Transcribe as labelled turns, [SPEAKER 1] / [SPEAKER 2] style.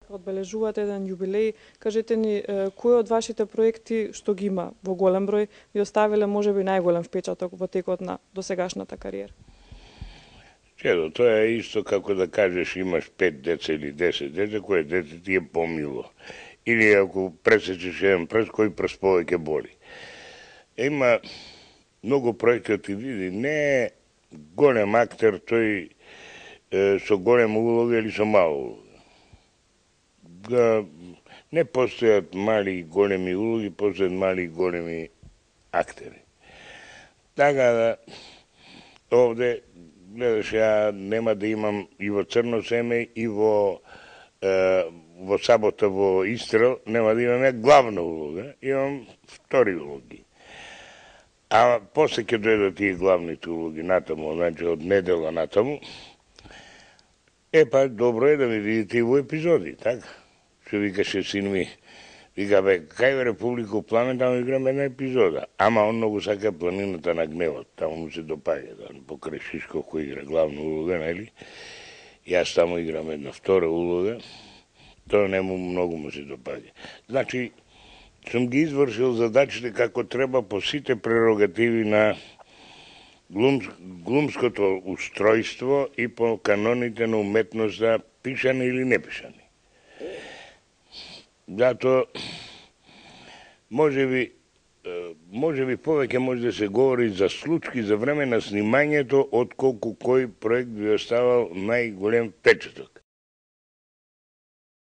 [SPEAKER 1] Одбележувате еден јубилеј. Кажете ни, кој од вашите проекти што ги има во голем број ви оставиле можеби најголем впечаток во текот на досегашната кариера?
[SPEAKER 2] Чедо, тоа е исто како да кажеш имаш 5 деца или 10 деца, кој дете ти е помило. Или ако пресечеш еден прст, кој прст повеќе боли. Има многу проекти ти види, не е голем актер тој со голема улога или со мала улога. Не постојат мали и големи улоги, постојат мали и големи актери. Така да, овде, гледаш, ја нема да имам и во Црно семе, и во Сабота во Истрел, нема да имам главна улога, имам втори улоги. А после ќе дојдат и главните улоги натаму, значи од недела натаму. Па добро е да ми видите и во епизоди, така? Што викаше син ми, вика, бе, кај во Република Пламен, таму играм една епизода. Ама он многу сака Планината на гневот, таму му се допаѓа, да, покрај Шишков кој игра главна улога, нели? Јас таму играм една втора улога, тоа нему многу му се допаѓа. Значи, сум ги извршил задачите како треба по сите прерогативи на глумското устројство и по каноните на уметноста, пишани или не пишани. Зато, може би повеќе може да се говори за случки за време на снимањето, отколку кој проект би оставал најголем впечаток.